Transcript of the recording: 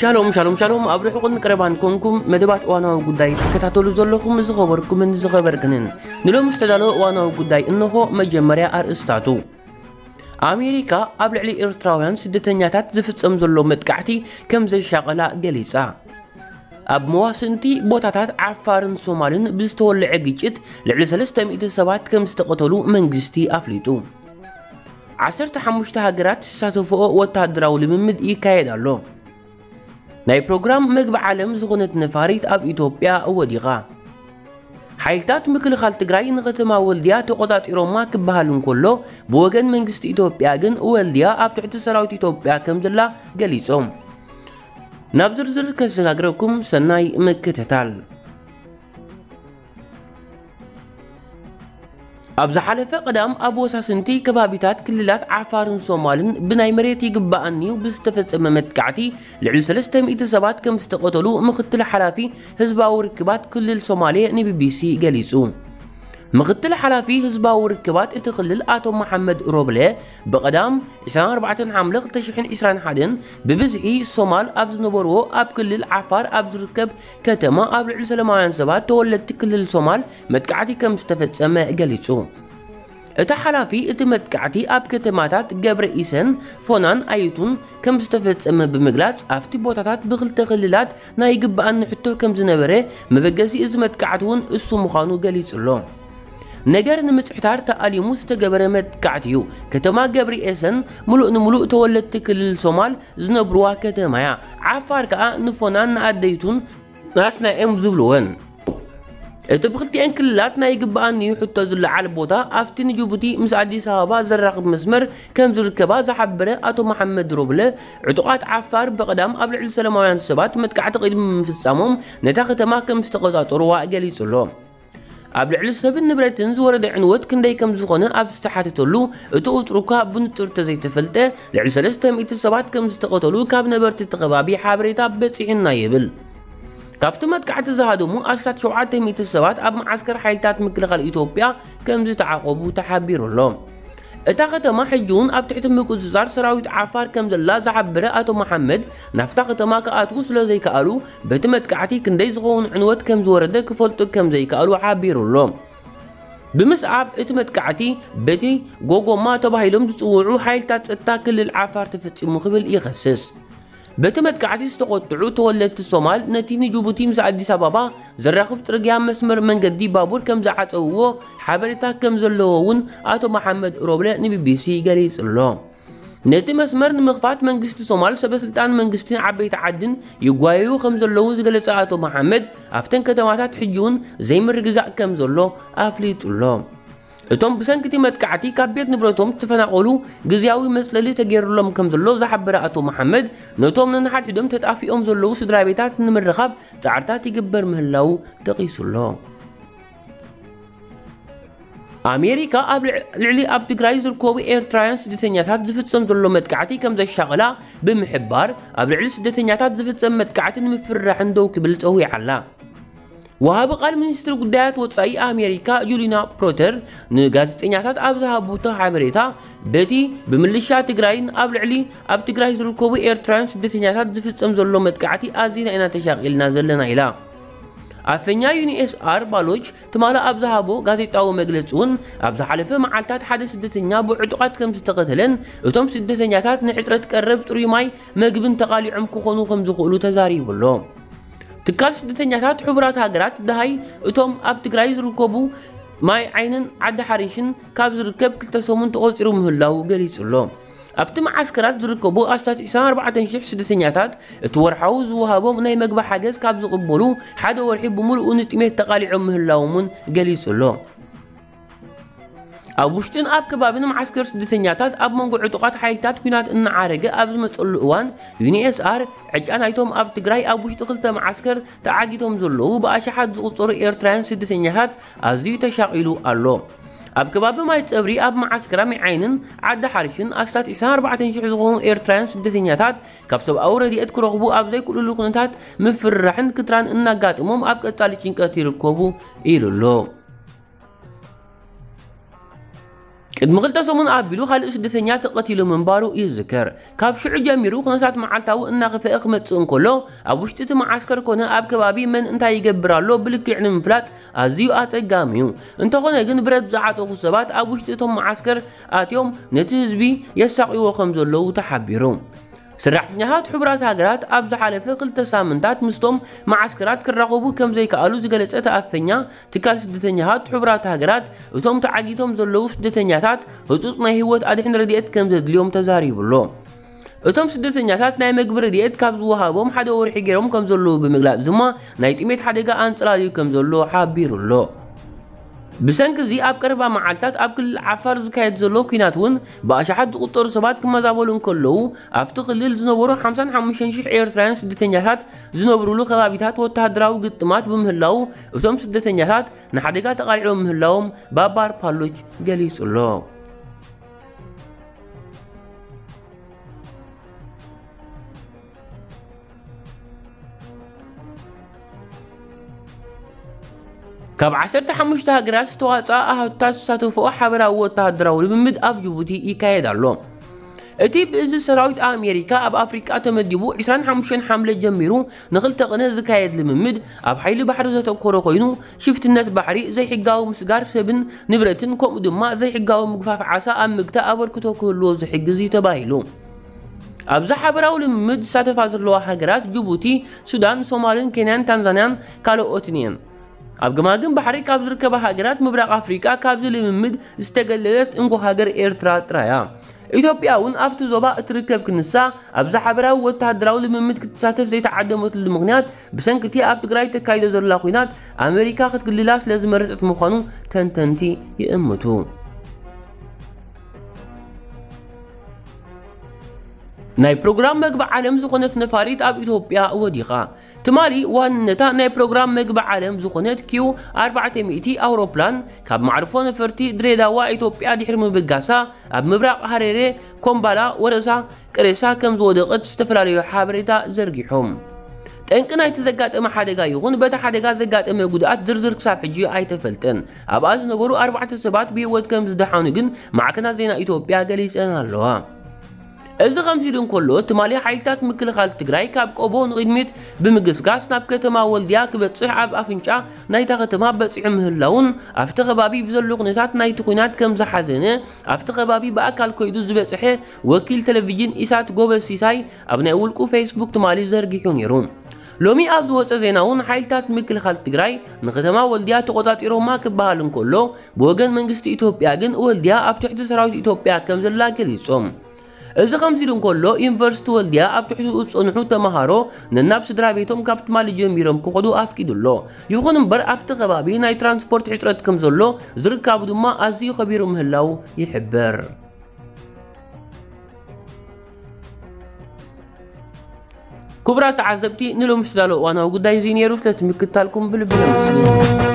ሻሎም ሻሎም ሻሎም፣ ኣብ ርሑቕን ቀረባን ኮንኩም መደባት እዋናዊ ጉዳይ ትከታተሉ ዘለኹም ዝኸበርኩምን ዝኸበርክንን፣ ንሎሚ ዝተዳለወ እዋናዊ ጉዳይ እንሆ። መጀመርያ ኣርእስታቱ። ኣሜሪካ ኣብ ልዕሊ ኤርትራውያን ስደተኛታት ዝፍጸም ዘሎ መጥቃዕቲ ከም ዘሻቐላ ገሊጻ። ኣብ መዋስንቲ ቦታታት ዓፋርን ሶማልን ብዝተወልዐ ግጭት ልዕሊ ሰለስተ ሚእቲ ሰባት ከም ዝተቐተሉ መንግስቲ ኣፍሊጡ። ዓሰርተ ሓሙሽተ ሃገራት ዝሳተፍኦ ወታደራዊ ልምምድ ይካየድ ኣሎ። ናይ ፕሮግራም መግቢ ዓለም ዝኾነት ነፋሪት ኣብ ኢትዮጵያ ወዲቓ። ሓይልታት ምክልኻል ትግራይ ንከተማ ወልድያ ተቖጻጺሮማ ክበሃል እንከሎ፣ ብወገን መንግስቲ ኢትዮጵያ ግን ወልድያ ኣብ ትሕቲ ሰራዊት ኢትዮጵያ ከም ዘላ ገሊጾም። ናብ ዝርዝር ከሰጋግረኩም፣ ሰናይ ምክትታል። ኣብ ዝሓለፈ ቀዳም ኣብ ወሳስንቲ ከባቢታት ክልላት ዓፋርን ሶማልን ብናይ መሬት ይግባኣኒዩ ብዝተፈጸመ መጥቃዕቲ ልዕሊ ሰለስተ ሚእቲ ሰባት ከም ዝተቐተሉ ምክትል ሓላፊ ህዝባዊ ርክባት ክልል ሶማሌ ንቢቢሲ ገሊጹ። ምክትል ሓላፊ ህዝባዊ ርክባት እቲ ክልል ኣቶ መሓመድ ሮብለ ብቐዳም ዕስራን ኣርባዕተን ሓምለ ክልተ ሽሕን ዕስራን ሓደን ብብዝሒ ሶማል ኣብ ዝነበርዎ ኣብ ክልል ዓፋር ኣብ ዝርከብ ከተማ ኣብ ልዕሊ ሰላማውያን ሰባት ተወለድቲ ክልል ሶማል መጥቃዕቲ ከም ዝተፈጸመ ገሊጹ። እቲ ሓላፊ እቲ መጥቃዕቲ ኣብ ከተማታት ገብረ ኢሰን ፎናን ኣይቱን ከም ዝተፈጸመ ብምግላጽ፣ ኣብቲ ቦታታት ብክልተ ክልላት ናይ ይግባኣኒ ሕቶ ከም ዝነበረ፣ መበገሲ እዚ መጥቃዕቲ እውን እሱ ምዃኑ ገሊጹ ኣሎ። ነገር ንምጽሕታር ተኣሊሙ ዝተገበረ መጥቃዕቲ እዩ። ከተማ ገብርኤሰን ምሉእ ንምሉእ ተወለድቲ ክልል ሶማል ዝነብርዋ ከተማ እያ። ዓፋር ከኣ ንፎናን ንኣደይቱን ናትና እዮም ዝብልወን። እቲ ብክልቲኤን ክልላት ናይ ይግባኣኒ እዩ ሕቶ ዝለዓል ቦታ ኣብቲ ንጅቡቲ ምስ ኣዲስ ኣበባ ዘራኽብ መስመር ከም ዝርከባ ዝሓበረ ኣቶ መሓመድ ሮብለ፣ ዕጡቓት ዓፋር ብቐዳም ኣብ ልዕሊ ሰላማውያን ሰባት መጥቃዕቲ ቅድሚ ምፍጻሞም ነታ ከተማ ከም ዝተቖጻጸርዋ ገሊጹ ኣሎ። ኣብ ልዕሊ ሰብን ንብረትን ዝወረደ ዕንወት ክንደይ ከም ዝኾነ ኣብ ዝተሓተተሉ፣ እቲ ቁጽሪ እኳ ብንጹር ተዘይተፈልጠ፣ ልዕሊ ሰለስተ ሚእቲ ሰባት ከም ዝተቐተሉ ካብ ነበርቲ እቲ ከባቢ ሓበሬታ በጺሑና ይብል። ካብቲ መጥቃዕቲ ዝሃደሙ ኣስታት ሸውዓተ ሚእቲ ሰባት ኣብ መዓስከር ሓይልታት ምክልኻል ኢትዮጵያ ከም ዝተዓቖቡ ተሓቢሩ ኣሎ። እታ ከተማ ሕጂ እውን ኣብ ትሕቲ ምቁጽጻር ሰራዊት ዓፋር ከም ዘላ ዝሓበረ ኣቶ መሓመድ፣ ናብታ ከተማ ክኣትዉ ስለ ዘይከኣሉ፣ በቲ መጥቃዕቲ ክንደይ ዝኸውን ዕንወት ከም ዝወረደ ክፈልጡ ከም ዘይከኣሉ ሓቢሩ ኣሎ። ብምስዓብ እቲ መጥቃዕቲ፣ በቲ ጎጎማ ተባሂሎም ዝጽውዑ ሓይልታት ጸጥታ ክልል ዓፋር ተፈጺሙ ክብል ይኸስስ። በቲ መጥቃዕቲ ዝተቖጥዑ ተወለድቲ ሶማል፣ ነቲ ንጅቡቲ ምስ ኣዲስ ኣበባ ዘራኽብ ጽርግያ መስመር መንገዲ ባቡር ከም ዝዓጸውዎ ሓበሬታ ከም ዘለዎ እውን ኣቶ መሓመድ ሮብለ ንቢቢሲ ገሊጹ ኣሎ። ነቲ መስመር ንምኽፋት መንግስቲ ሶማል፣ ሰበ ስልጣን መንግስትን ዓበይቲ ዓድን ይጓየዩ ከም ዘለዉ ዝገለጸ ኣቶ መሓመድ፣ ኣብተን ከተማታት ሕጂ እውን ዘይምርግጋእ ከም ዘሎ ኣፍሊጡ ኣሎ። እቶም ብሰንኪ እቲ መጥቃዕቲ ካብ ቤት ንብረቶም ዝተፈናቐሉ ግዝያዊ መጽለሊ ተገይሩሎም ከም ዘሎ ዝሓበረ ኣቶ መሓመድ፣ ነቶም ነንሓድሕዶም ተጣፊኦም ዘለዉ ስድራ ቤታት ንምርኻብ ጻዕርታት ይግበር ምህላዉ ጠቒሱ ኣሎ። ኣሜሪካ ኣብ ልዕ-፣ ልዕሊ ኣብ ትግራይ ዝርከቡ ኤርትራውያን ስደተኛታት ዝፍጸም ዘሎ መጥቃዕቲ ከም ዘሻቐላ ብምሕባር፣ ኣብ ልዕሊ ስደተኛታት ዝፍጸም መጥቃዕቲ ንምፍርራሕን ደው ክብል ጸዊዓ ኣላ። ወሃቢ ቃል ሚኒስትሪ ጉዳያት ወጻኢ ኣሜሪካ ጁሊና ፕሮተር ንጋዜጠኛታት ኣብ ዝሃቡቶ ሓበሬታ፣ በቲ ብምልሻ ትግራይን ኣብ ልዕሊ ኣብ ትግራይ ዝርከቡ ኤርትራውያን ስደተኛታት ዝፍጸም ዘሎ መጥቃዕቲ ኣዚና ኢና ተሻቒልና ዘለና ኢላ። ኣፈኛ ዩኒኤስኣር ባሎች ትማሊ ኣብ ዝሃቦ ጋዜጣዊ መግለጺ እውን፣ ኣብ ዝሓለፈ መዓልታት ሓደ ስደተኛ ብዕጡቓት ከም ዝተቐተለን፣ እቶም ስደተኛታት ንሕጽረት ቀረብ ጽሩይ ማይ መግብን ተቓሊዖም ክኾኑ ከም ዝኽእሉ ተዛሪቡ ኣሎ። ትካል ስደተኛታት ሕቡራት ሃገራት ደሃይ እቶም ኣብ ትግራይ ዝርከቡ ማይ ዓይንን ዓዲ ሓሪሽን ካብ ዝርከብ ክልተ ሰሙን ተቖጺሩ ምህላዉ ገሊጹ ኣሎ። ኣብቲ መዓስከራት ዝርከቡ ኣስታት ዕስራን ኣርባዕተን ሽሕ ስደተኛታት እቲ ወርሓዊ ዝወሃቦም ናይ መግቢ ሓገዝ ካብ ዝቕበሉ ሓደ ወርሒ ብምሉኡ ንጥሜት ተቓሊዖም ምህላዎም እውን ገሊጹ ኣሎ። ኣብ ውሽጥን ኣብ ከባብን መዓስከር ስደተኛታት ኣብ መንጎ ዕጡቓት ሓይልታት ኲናት እናዓረገ ኣብ ዝመጸሉ እዋን፣ ዩኒኤስኣር ዕጫ ናይቶም ኣብ ትግራይ ኣብ ውሽጢ ክልተ መዓስከር ተዓጊቶም ዘለዉ ብኣሽሓት ዝቑጸሩ ኤርትራውያን ስደተኛታት ኣዝዩ ተሻቒሉ ኣሎ። ኣብ ከባቢ ማይ ጸብሪ ኣብ መዓስከር ማይ ዓይንን ዓዲ ሓሪሽን ኣስታት ዕስራን ኣርባዕተን ሽሕ ዝኾኑ ኤርትራውያን ስደተኛታት ካብ ሰብኣዊ ረድኤት ክረኽቡ ኣብ ዘይክእልሉ ኩነታት ምፍርራሕን ክትራን እናጋጠሞም ኣብ ቀጻሊ ጭንቀት ይርከቡ ኢሉ ኣሎ። ቅድሚ ክልተ ሰሙን ኣቢሉ ካልእ ስደተኛ ተቐቲሉ ምንባሩ ይዝከር። ካብ ሽዑ ጀሚሩ ኩነታት መዓልታዊ እናኸፍአ ክመጽእ እንከሎ፣ ኣብ ውሽጢ እቲ መዓስከር ኮነ ኣብ ከባቢ መን እንታይ ይገብር ኣሎ ብልክዕ ንምፍላጥ ኣዝዩ ኣጸጋሚ እዩ። እንተኾነ ግን ብረት ዝዓጠቑ ሰባት ኣብ ውሽጢ እቶም መዓስከር ኣትዮም ነቲ ህዝቢ የሳቕይዎ ከም ዘለዉ ተሓቢሩ። ሰራሕተኛታት ሕቡራት ሃገራት ኣብ ዝሓለፈ ክልተ ሳምንታት ምስቶም መዓስከራት ክራኸቡ ከም ዘይከኣሉ ዝገለጸ እቲ ኣፈኛ ትካል ስደተኛታት ሕቡራት ሃገራት፣ እቶም ተዓጊቶም ዘለዉ ስደተኛታት ህጹጽ ናይ ህይወት ኣድሕን ረድኤት ከም ዘድልዮም ተዛሪቡ ኣሎ። እቶም ስደተኛታት ናይ መግቢ ረድኤት ካብ ዝወሃቦም ሓደ ወርሒ ገይሮም ከም ዘለዉ ብምግላጽ ድማ ናይ ጥሜት ሓደጋ ኣንጸላልዩ ከም ዘሎ ሓቢሩ ኣሎ። ብሰንኪ እዚ ኣብ ቀረባ መዓልታት ኣብ ክልል ዓፋር ዝካየድ ዘሎ ኲናት እውን ብኣሽሓት ዝቑጸሩ ሰባት ክመዛበሉ እንከለዉ፣ ኣብቲ ክልል ዝነበሩ ሓምሳን ሓሙሽተን ሽሕ ኤርትራውያን ስደተኛታት ዝነብሩሉ ከባቢታት ወተሃደራዊ ግጥማት ብምህላዉ፣ እቶም ስደተኛታት ንሓደጋ ተቓሊዖም ምህላዎም ባባር ፓሎች ገሊጹ ኣሎ። ካብ ዓሰርተ ሓሙሽተ ሃገራት ዝተዋፅኣ ኣሃዱታት ዝሳተፍኦ ሓበራዊ ወተሃደራዊ ልምምድ ኣብ ጅቡቲ ይካየድ ኣሎ። እቲ ብእዝ ሰራዊት ኣሜሪካ ኣብ ኣፍሪቃ ተመዲቡ ዕስራን ሓሙሽተን ሓምለ ጀሚሩ ንኽልተ ቅነ ዝካየድ ልምምድ ኣብ ሓይሊ ባሕሪ ዘተኮረ ኮይኑ፣ ሽፍትነት ባሕሪ፣ ዘይሕጋዊ ምስጋር ሰብን ንብረትን፣ ከምኡ ድማ ዘይሕጋዊ ምግፋፍ ዓሳ ኣብ ምግታእ ኣበርክቶ ክህልዎ ዝሕግዝ እዩ ተባሂሉ። ኣብዚ ሓበራዊ ልምምድ ዝሳተፋ ዘለዋ ሃገራት ጅቡቲ፣ ሱዳን፣ ሶማልን፣ ኬንያን፣ ታንዛንያን ካልኦትን እየን። ኣብ ገማግም ባሕሪ ካብ ዝርከባ ሃገራት ምብራቕ ኣፍሪቃ ካብዚ ልምምድ ዝተገለለት እንኮ ሃገር ኤርትራ ጥራያ። ኢትዮጵያ እውን ኣብቲ ዞባ እትርከብ ክንሳ፣ ኣብዚ ሓበራዊ ወተሃደራዊ ልምምድ ክትሳተፍ ዘይተዓደመትሉ ምኽንያት፣ ብሰንኪ እቲ ኣብ ትግራይ ተካይዶ ዘላ ኲናት ኣሜሪካ ክትግልላ ስለ ዝመረጸት ምዃኑ ተንተንቲ ይእምቱ። ናይ ፕሮግራም መግቢ ዓለም ዝኾነት ነፋሪት ኣብ ኢትዮጵያ ወዲቓ። ትማሊ ዋንነታ ናይ ፕሮግራም መግቢ ዓለም ዝኾነት ኪው ኣርባዕተ ሚእቲ ኣውሮፕላን ካብ ማዕርፎ ነፈርቲ ድሬዳዋ ኢትዮጵያ ድሕሪ ምብጋሳ፣ ኣብ ምብራቕ ሃሬሬ፣ ኮምባላ፣ ወረሳ፣ ቅሬሳ ከም ዝወደቐት ዝተፈላለዩ ሓበሬታ ዘርጊሖም። ጠንቂ ናይቲ ዘጋጠመ ሓደጋ ይኹን በቲ ሓደጋ ዘጋጠመ ጉድኣት ዝርዝር ክሳብ ሕጂ ኣይተፈልጠን። ኣብኣ ዝነበሩ ኣርባዕተ ሰባት ብህይወት ከም ዝደሓኑ ግን ማዕከናት ዜና ኢትዮጵያ ገሊጸን ኣለዋ። እዚ ከምዚ ኢሉ እንከሎ፣ ትማሊ ሓይልታት ምክልኻል ትግራይ ካብ ቆቦ ንቕድሚት ብምግስጋስ ናብ ከተማ ወልድያ ክበጽሕ ኣብ ኣፍንጫ ናይታ ከተማ በጺሑ ምህላውን ኣብቲ ከባቢ ብዘሎ ኩነታት ናይቲ ኲናት ከም ዝሓዘነ ኣብቲ ከባቢ ብኣካል ከይዱ ዝበጽሐ ወኪል ቴሌቪዥን ኢሳት ጎበዝ ሲሳይ ኣብ ናይ ውልቁ ፌስቡክ ትማሊ ዘርጊሑ ነይሩ። ሎሚ ኣብ ዝወጸ ዜና እውን ሓይልታት ምክልኻል ትግራይ ንከተማ ወልድያ ተቖጻጺሮማ ክበሃል እንከሎ፣ ብወገን መንግስቲ ኢትዮጵያ ግን ወልድያ ኣብ ትሕቲ ሰራዊት ኢትዮጵያ ከም ዘላ ገሊጾም። እዚ ከምዚ ኢሉ እንከሎ፣ ዩኒቨርሲቲ ወልድያ ኣብ ትሕቲኡ ዝጸንሑ ተመሃሮ ነናብ ስድራ ቤቶም ካብ ትማሊ ጀሚሮም ክኸዱ ኣፍቂዱ ኣሎ። ይኹን እምበር፣ ኣብቲ ከባቢ ናይ ትራንስፖርት ሕጽረት ከም ዘሎ፣ ዝርካቡ ድማ ኣዝዩ ከቢሩ ምህላው ይሕበር። ክቡራት ተዓዘብቲ፣ ንሎሚ ዝተዳለወ እዋናዊ ጉዳይ እዚ ነይሩ። ስለቲ ምክትታልኩም ብልቢ ነመስግን።